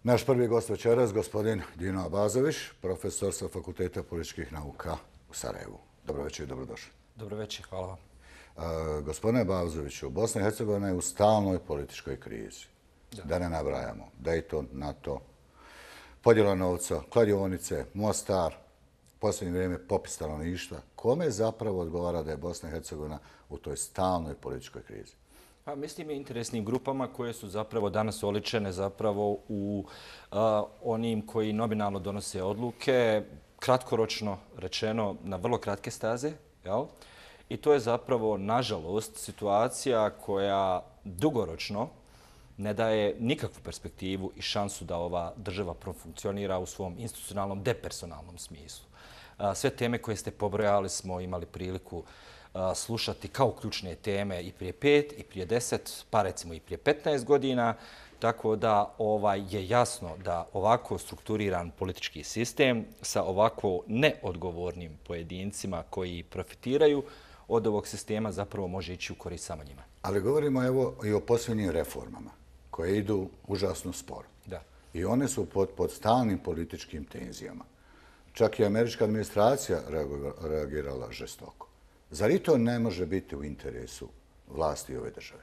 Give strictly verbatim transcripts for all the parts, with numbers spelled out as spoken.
Naš prvi gost večeras, gospodin Dino Abazović, profesor sa Fakulteta političkih nauka u Sarajevu. Dobro večer i dobrodošli. Dobro večer, hvala vam. E, gospodine Abazoviću, Bosna i Hercegovina je u stalnoj političkoj krizi. Da, da ne nabrajamo. Dayton, NATO, podjela novca, kladionice, Mostar, posljednje vrijeme popis stanovništva. Kome zapravo odgovara da je Bosna i Hercegovina u toj stalnoj političkoj krizi? Pa, mislim i interesnim grupama koje su zapravo danas oličene zapravo u a, onim koji nominalno donose odluke, kratkoročno rečeno na vrlo kratke staze, jel? I to je zapravo, nažalost, situacija koja dugoročno ne daje nikakvu perspektivu i šansu da ova država profunkcionira u svom institucionalnom, depersonalnom smislu. A, sve teme koje ste pobrojali smo imali priliku slušati kao ključne teme i prije pet, i prije deset, pa recimo i prije petnaest godina. Tako da ovaj, je jasno da ovako strukturiran politički sistem sa ovako neodgovornim pojedincima koji profitiraju od ovog sistema zapravo može ići u korist samo njima. Ali govorimo evo i o posljednjim reformama koje idu užasno sporo. Da. I one su pod, pod stalnim političkim tenzijama. Čak i američka administracija reagirala žestoko. Zar i to ne može biti u interesu vlasti ove države?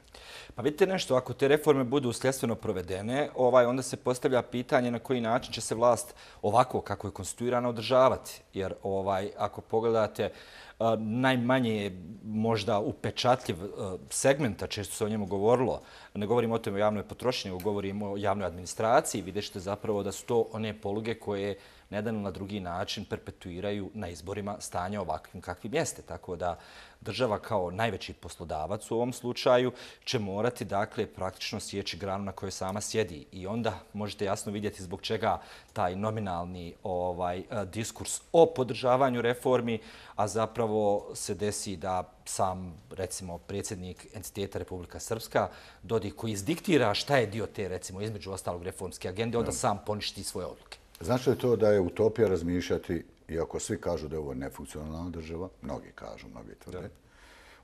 Pa vidite nešto, ako te reforme budu sljedstveno provedene, ovaj, onda se postavlja pitanje na koji način će se vlast ovako kako je konstituirana održavati. Jer ovaj, ako pogledate a, najmanje možda upečatljiv a, segmenta, često se o njemu govorilo, ne govorimo o tome o javnoj potrošnji, nego govorimo o javnoj administraciji, vidjet ćete zapravo da su to one poluge koje na jedan na drugi način perpetuiraju na izborima stanja ovakvim kakvim jeste. Tako da država kao najveći poslodavac u ovom slučaju će morati dakle praktično sjeći granu na kojoj sama sjedi. I onda možete jasno vidjeti zbog čega taj nominalni ovaj, diskurs o podržavanju reformi, a zapravo se desi da sam, recimo, predsjednik entiteta Republika Srpska, Dodik, koji izdiktira šta je dio te, recimo, između ostalog reformske agende, onda sam poništi svoje odluke. Znači li to da je utopija razmišljati, iako svi kažu da je ovo nefunkcionalna država, mnogi kažu, mnogi tvrde,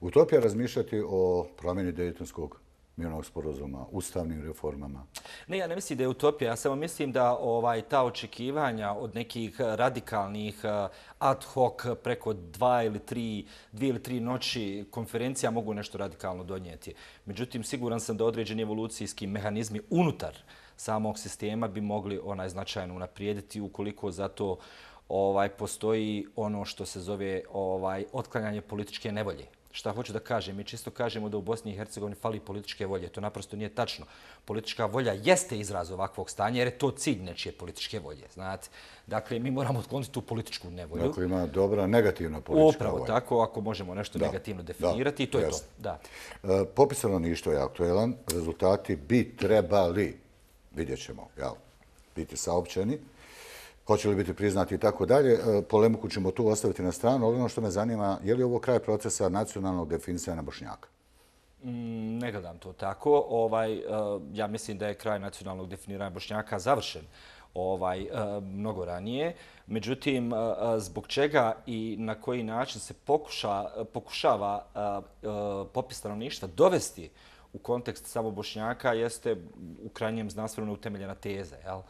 utopija razmišljati o promjeni Daytonskog mirovnog sporazuma, ustavnim reformama? Ne, ja ne mislim da je utopija. Ja samo mislim da ovaj, ta očekivanja od nekih radikalnih ad hoc preko dva ili tri, dvije ili tri noći konferencija mogu nešto radikalno donijeti. Međutim, siguran sam da određeni evolucijski mehanizmi unutar samog sistema bi mogli onaj značajno unaprijediti ukoliko za to ovaj, postoji ono što se zove ovaj, otklanjanje političke nevolje. Šta hoću da kažem? Mi čisto kažemo da u Bosni i Hercegovini fali političke volje. To naprosto nije tačno. Politička volja jeste izraz ovakvog stanja jer je to cilj nečije političke volje. Znate? Dakle, mi moramo otkloniti tu političku nevolju. Dakle, ima dobra negativna politička Upravo volja. tako, ako možemo nešto da, negativno definirati, i to je to. Da. E, popis stanovništva je aktuelan. Rezultati bi trebali, vidjet ćemo, jel, biti saopćeni. Hoće li biti priznati i tako dalje. Polemiku ćemo tu ostaviti na stranu. Ono što me zanima, je li ovo kraj procesa nacionalnog definisanja Bošnjaka? Mm, ne gledam to tako. Ovaj, ja mislim da je kraj nacionalnog definiranja Bošnjaka završen ovaj, mnogo ranije. Međutim, zbog čega i na koji način se pokuša, pokušava popis stanovništva dovesti u kontekst samo Bošnjaka jeste u krajnjem znanstveno utemeljena teza, jel?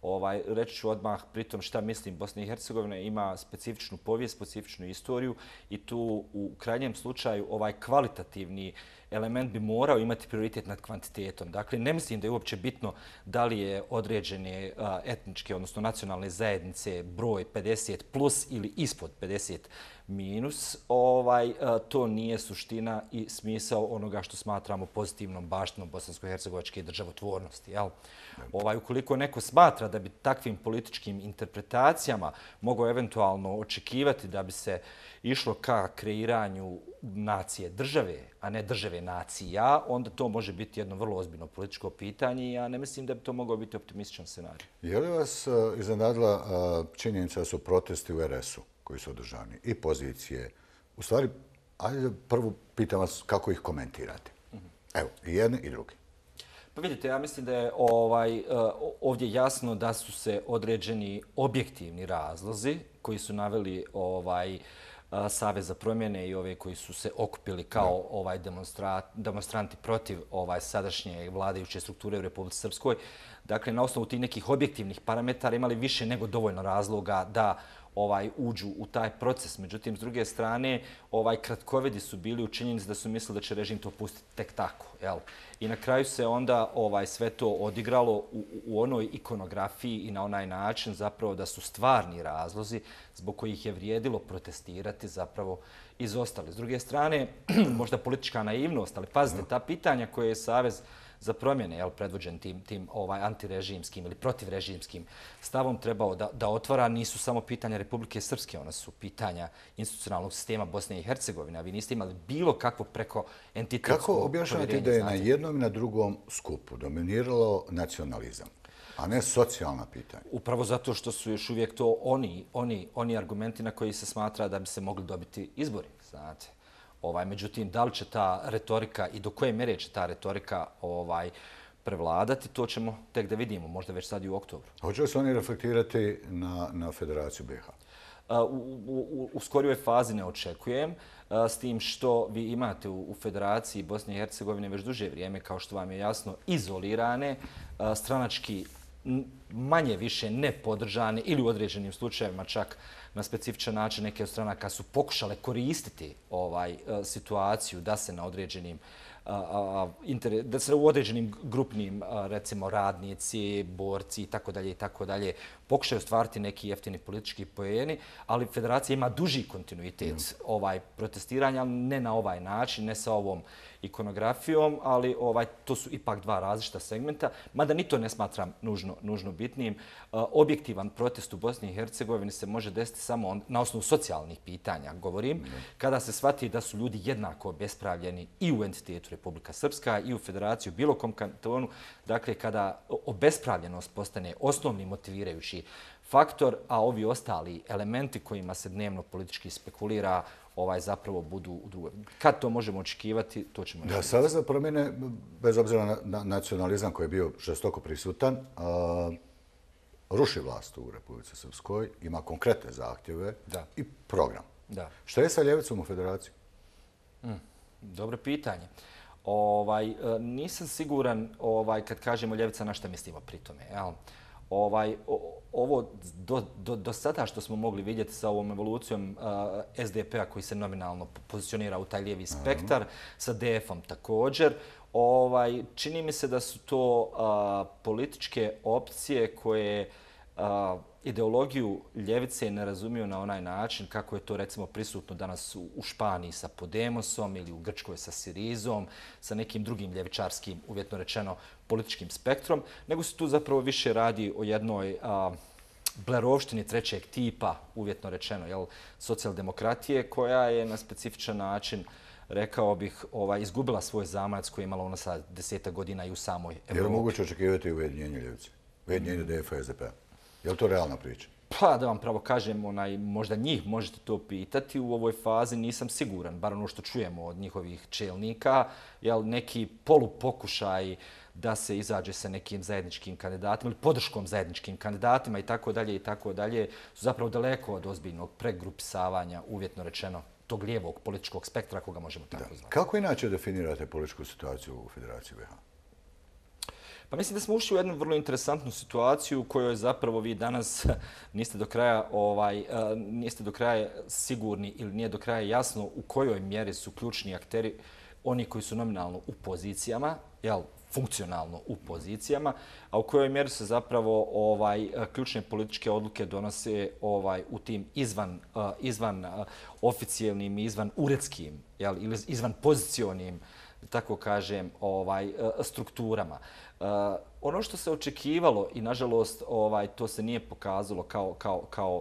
Ovaj, reći ću odmah pritom šta mislim. Bosna i Hercegovina ima specifičnu povijest, specifičnu istoriju i tu u krajnjem slučaju ovaj kvalitativni element bi morao imati prioritet nad kvantitetom. Dakle, ne mislim da je uopće bitno da li je određene a, etničke, odnosno nacionalne zajednice broj pedeset plus ili ispod pedeset minus. Ovaj, a, to nije suština i smisao onoga što smatramo pozitivnom baštinom bosansko-hercegovačke državotvornosti. Jel? Ovaj, ukoliko neko smatra da bi takvim političkim interpretacijama mogao eventualno očekivati da bi se išlo ka kreiranju nacije države, a ne države nacija, onda to može biti jedno vrlo ozbiljno političko pitanje i ja ne mislim da bi to mogao biti optimističan scenarij. Je li vas iznenadila činjenica da su protesti u er es u koji su održani i pozicije? U stvari, ajde prvo pitam vas kako ih komentirate. Evo, i jedni i drugi. Pa vidite, ja mislim da je ovaj, ovdje jasno da su se određeni objektivni razlozi koji su naveli ovaj, Savez za promjene i ove koji su se okupili kao ovaj demonstranti protiv ovaj sadašnje vladajuće strukture u Republici Srpskoj, dakle, na osnovu tih nekih objektivnih parametara imali više nego dovoljno razloga da ovaj uđu u taj proces. Međutim, s druge strane, ovaj kratkovidi su bili u činjenici da su mislili da će režim to pustiti tek tako. Jel? I na kraju se onda ovaj sve to odigralo u, u onoj ikonografiji i na onaj način zapravo da su stvarni razlozi zbog kojih je vrijedilo protestirati zapravo izostali. S druge strane, možda politička naivnost, ali pazite, ta pitanja koje je Savez za promjene, jel, predvođen tim, tim ovaj, antirežimskim ili protivrežimskim stavom trebao da, da otvara, nisu samo pitanja Republike Srpske, ona su pitanja institucionalnog sistema Bosne i Hercegovine, a vi niste imali bilo kakvo preko entitetsko Kako objašnjavate povjerenje, da je znate? na jednom i na drugom skupu dominiralo nacionalizam, a ne socijalna pitanja? Upravo zato što su još uvijek to oni, oni, oni argumenti na koji se smatra da bi se mogli dobiti izbori, znate. Ovaj, međutim, da li će ta retorika i do koje mjere će ta retorika ovaj, prevladati, to ćemo tek da vidimo, možda već sad i u oktobru. Hoće li se oni reflektirati na, na Federaciju B i H? U, u, u skorijoj fazi ne očekujem, s tim što vi imate u, u Federaciji Bosne i Hercegovine već duže vrijeme, kao što vam je jasno, izolirane, stranački manje više nepodržane ili u određenim slučajevima čak na specifičan način neke od stranaka su pokušale koristiti ovaj situaciju da se na određenim da se u određenim grupnim, recimo, radnici, borci i tako dalje i tako dalje pokušaju stvariti neki jeftini politički poeni, ali Federacija ima duži kontinuitet ovaj protestiranja, ali ne na ovaj način, ne sa ovom ikonografijom, ali ovaj to su ipak dva različita segmenta, mada ni to ne smatram nužno, nužno bitnim. Objektivan protest u Bosni i Hercegovini se može desiti samo na osnovu socijalnih pitanja, govorim, kada se shvati da su ljudi jednako obespravljeni i u entitetu Republika Srpska i u Federaciji u bilo kom kantonu, dakle kada obespravljenost postane osnovni motivirajući faktor, a ovi ostali elementi kojima se dnevno politički spekulira ovaj zapravo budu u drugoj. Kad to možemo očekivati, to ćemo... Da, Savez za promjene, bez obzira na, na nacionalizam koji je bio žestoko prisutan, a, ruši vlast u Republici Srpskoj, ima konkretne zahtjeve da. i program. Da. Šta je sa ljevicom u Federaciji? Mm, dobro pitanje. Ovaj, nisam siguran ovaj, kad kažemo ljevica na šta mislimo pri tome. Jel? Ovaj, ovo do, do, do sada što smo mogli vidjeti sa ovom evolucijom uh, S D P-a koji se nominalno pozicionira u taj lijevi spektar, uh -huh. sa D F-om također, ovaj, čini mi se da su to uh, političke opcije koje uh, ideologiju ljevice ne razumiju na onaj način kako je to recimo prisutno danas u, u Španiji sa Podemosom ili u Grčkoj sa Sirizom, sa nekim drugim ljevičarskim, uvjetno rečeno, političkim spektrom, nego se tu zapravo više radi o jednoj a, blerovštini trećeg tipa, uvjetno rečeno, jel, socijaldemokratije, koja je na specifičan način, rekao bih, ovaj, izgubila svoj zamajac koji je imala ona sa desetak godina i u samoj Evropi. Je li moguće očekivati ujedinjenje ljevice? Ujedinjenje D F-a i S D P-a? Je li to realna priča? Pa da vam pravo kažem, onaj, možda njih možete to pitati. U ovoj fazi nisam siguran, bar ono što čujemo od njihovih čelnika, jel, neki polupokušaj da se izađe sa nekim zajedničkim kandidatima ili podrškom zajedničkim kandidatima i tako dalje i tako dalje su zapravo daleko od ozbiljnog pregrupisavanja, uvjetno rečeno, tog lijevog političkog spektra, koga možemo tako zvati. Kako inače definirate političku situaciju u Federaciji B i H? Pa mislim da smo ušli u jednu vrlo interesantnu situaciju u kojoj zapravo vi danas niste do kraja ovaj niste do kraja sigurni ili nije do kraja jasno u kojoj mjeri su ključni akteri oni koji su nominalno u pozicijama, jel, funkcionalno u pozicijama, a u kojoj mjeri se zapravo ovaj ključne političke odluke donose ovaj u tim izvan izvan oficijalnim i izvan uredskim, jel, ili izvan pozicionim, tako kažem, ovaj strukturama. Uh, ono što se očekivalo i nažalost ovaj to se nije pokazalo kao kao kao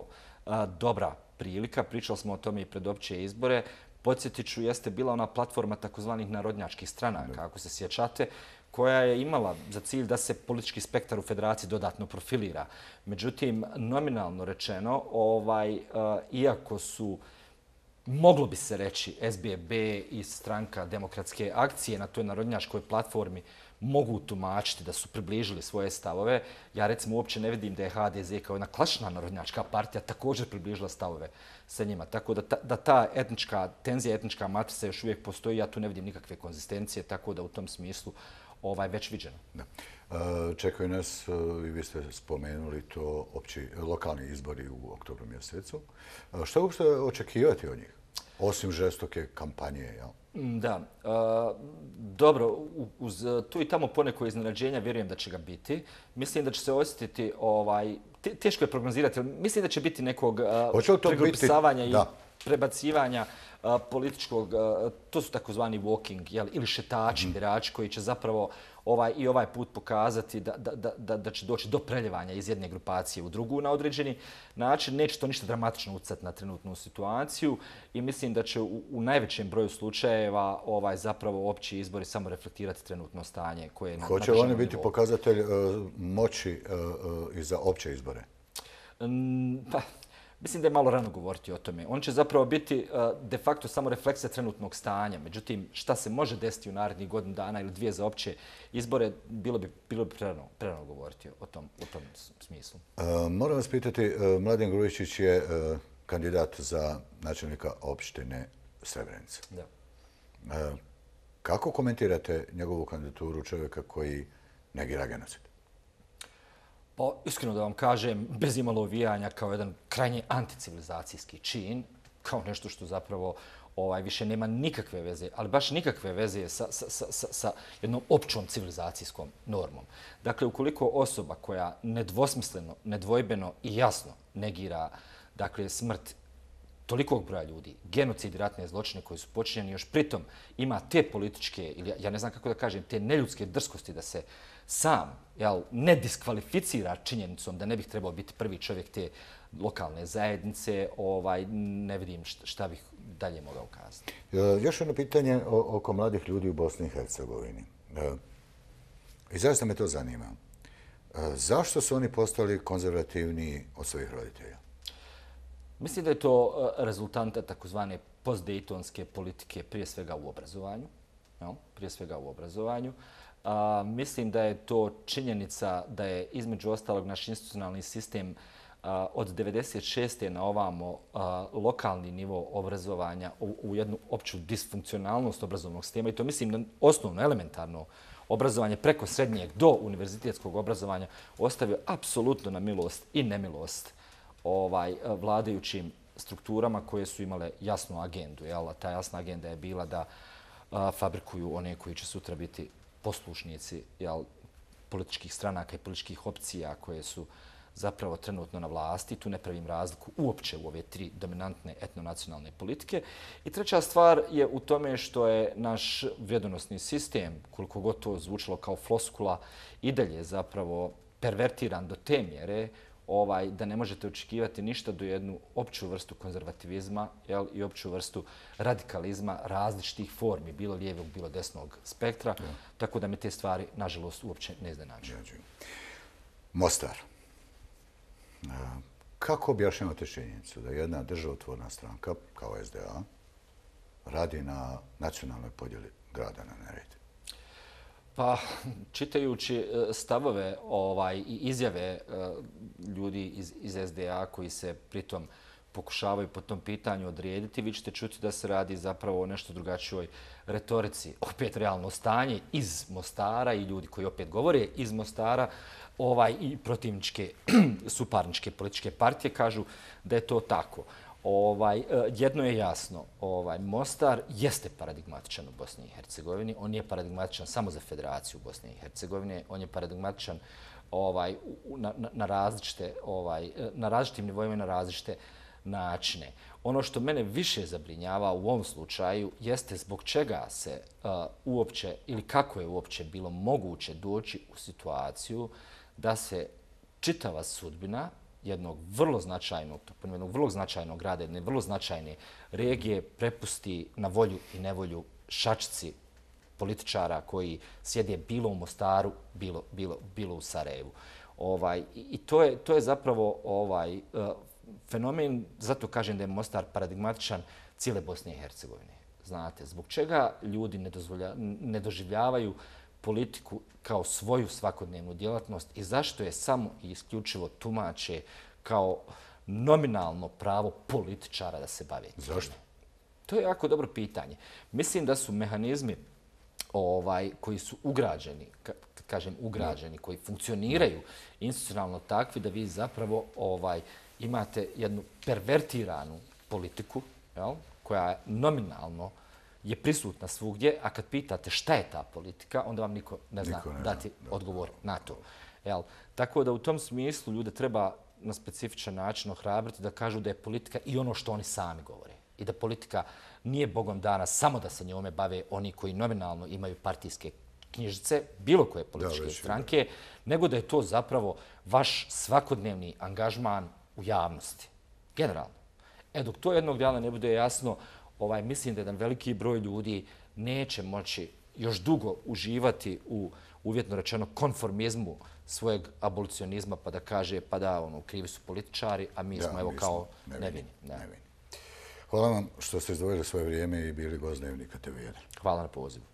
uh, dobra prilika, pričali smo o tome i pred opće izbore. Podsjetiću, jeste bila ona platforma takozvanih narodnjačkih stranaka, ako se sjećate, koja je imala za cilj da se politički spektar u Federaciji dodatno profilira. Međutim, nominalno rečeno, ovaj uh, iako su moglo bi se reći S B B i Stranka demokratske akcije na toj narodnjačkoj platformi mogu tumačiti da su približili svoje stavove. Ja recimo uopće ne vidim da je H D Z kao jedna klasična narodnjačka partija također približila stavove sa njima. Tako da ta, da ta etnička tenzija, etnička matrica još uvijek postoji, ja tu ne vidim nikakve konzistencije, tako da u tom smislu ovaj, već viđeno. Da. Čekaju nas, i vi ste spomenuli to, opći lokalni izbori u oktobru mjesecu. Što uopšte očekivati od njih? Osim žestoke kampanje, jel? Da. Dobro, uz tu i tamo poneko iznenađenja vjerujem da će ga biti. Mislim da će se osjetiti, ovaj, teško je prognozirati, ali mislim da će biti nekog pregrupisavanja i prebacivanja političkog, to su takozvani walking ili šetači birači koji će zapravo ovaj, i ovaj put pokazati da, da, da, da će doći do preljevanja iz jedne grupacije u drugu na određeni način. Neće to ništa dramatično utjecati na trenutnu situaciju i mislim da će u, u najvećem broju slučajeva ovaj, zapravo opći izbori samo reflektirati trenutno stanje koje je na Hoće oni biti nivou. Pokazatelj uh, moći uh, uh, i za opće izbore? Mm, pa, mislim da je malo rano govoriti o tome. On će zapravo biti de facto samo refleksija trenutnog stanja. Međutim, šta se može desiti u narednih godinu dana ili dvije za opće izbore, bilo bi, bilo bi prerano, prerano govoriti o tom, u tom smislu. Uh, moram vas pitati, uh, Mladen Grujičić je uh, kandidat za načelnika opštine Srebrenica. Da. Uh, kako komentirate njegovu kandidaturu čovjeka koji negira genocid? Pa, iskreno da vam kažem, bez imalo uvijanja kao jedan krajnje anticivilizacijski čin, kao nešto što zapravo ovaj, više nema nikakve veze, ali baš nikakve veze sa, sa, sa, sa jednom općom civilizacijskom normom. Dakle, ukoliko osoba koja nedvosmisleno, nedvojbeno i jasno negira dakle, smrt tolikog broja ljudi, genocid i ratne zločine koji su počinjeni, još pritom ima te političke, ili ja ne znam kako da kažem, te neljudske drskosti da se sam jel, ne diskvalificira činjenicom da ne bih trebao biti prvi čovjek te lokalne zajednice, ovaj, ne vidim šta bih dalje mogao kazati. Još jedno pitanje oko mladih ljudi u Bosni i Hercegovini. I zaista me to zanima. Zašto su oni postali konzervativniji od svojih roditelja? Mislim da je to rezultanta takozvane postdejtonske politike, prije svega u obrazovanju. Jel? Prije svega u obrazovanju. A, mislim da je to činjenica da je između ostalog naš institucionalni sistem a, od devedeset šeste na ovamo a, lokalni nivo obrazovanja u, u jednu opću disfunkcionalnost obrazovnog sistema i to mislim da osnovno, elementarno obrazovanje preko srednjeg do univerzitetskog obrazovanja ostavio apsolutno na milost i nemilost ovaj, vladajućim strukturama koje su imale jasnu agendu. Jel? Ta jasna agenda je bila da a, fabrikuju one koji će sutra biti poslušnici jel, političkih stranaka i političkih opcija koje su zapravo trenutno na vlasti. Tu ne pravim razliku uopće u ove tri dominantne etnonacionalne politike. I treća stvar je u tome što je naš vrijedonosni sistem, koliko god to zvučalo kao floskula, i dalje zapravo pervertiran do te mjere ovaj, da ne možete očekivati ništa do jednu opću vrstu konzervativizma jel, i opću vrstu radikalizma različitih formi, bilo lijevog, bilo desnog spektra, ja. Tako da me te stvari, nažalost, uopće ne iznenađuju. Mostar. Kako objašnjavate činjenicu da jedna državotvorna stranka, kao S D A, radi na nacionalnoj podjeli grada na Neretvi? Pa, čitajući stavove ovaj, i izjave ljudi iz, iz S D A koji se pritom pokušavaju po tom pitanju odrediti, vi ćete čuti da se radi zapravo o nešto drugačijoj retorici. Opet realno stanje iz Mostara i ljudi koji opet govore iz Mostara ovaj, i protivničke, suparničke političke partije kažu da je to tako. Ovaj, jedno je jasno, ovaj, Mostar jeste paradigmatičan u Bosni i Hercegovini. On nije paradigmatičan samo za Federaciju Bosne i Hercegovine. On je paradigmatičan ovaj, na, na, različite, ovaj, na različitim nivoima i na različite načine. Ono što mene više zabrinjava u ovom slučaju jeste zbog čega se uh, uopće ili kako je uopće bilo moguće doći u situaciju da se čitava sudbina jednog vrlo značajnog, jednog vrlo značajnog grada, jedne vrlo značajne regije prepusti na volju i nevolju šačici političara koji sjede bilo u Mostaru, bilo, bilo, bilo u Sarajevu. Ovaj, I to je, to je zapravo ovaj, uh, fenomen, zato kažem da je Mostar paradigmatičan cijele Bosne i Hercegovine. Znate, zbog čega ljudi ne, ne doživljavaju politiku kao svoju svakodnevnu djelatnost i zašto je samo i isključivo tumače kao nominalno pravo političara da se bave. Zašto? To je jako dobro pitanje. Mislim da su mehanizmi ovaj, koji su ugrađeni, kad kažem ugrađeni, koji funkcioniraju institucionalno takvi da vi zapravo ovaj, imate jednu pervertiranu politiku, jel, koja nominalno je prisutna svugdje, a kad pitate šta je ta politika, onda vam niko ne zna Niko ne dati zna, da, odgovor na to. Jel? Tako da u tom smislu ljude treba na specifičan način ohrabriti da kažu da je politika i ono što oni sami govore. I da politika nije bogom dana samo da se njome bave oni koji nominalno imaju partijske knjižice, bilo koje političke Da, već, stranke, nego da je to zapravo vaš svakodnevni angažman u javnosti. Generalno. E, dok to jednog dana ne bude jasno, ovaj, mislim da jedan veliki broj ljudi neće moći još dugo uživati u, uvjetno rečeno, konformizmu svojeg abolicionizma, pa da kaže, pa da, ono, krivi su političari, a mi Da, smo, evo, mi kao smo nevini. Da. nevini. Hvala vam što ste izdvojili svoje vrijeme i bili gost Dnevnika te ve jedan. Hvala na pozivu.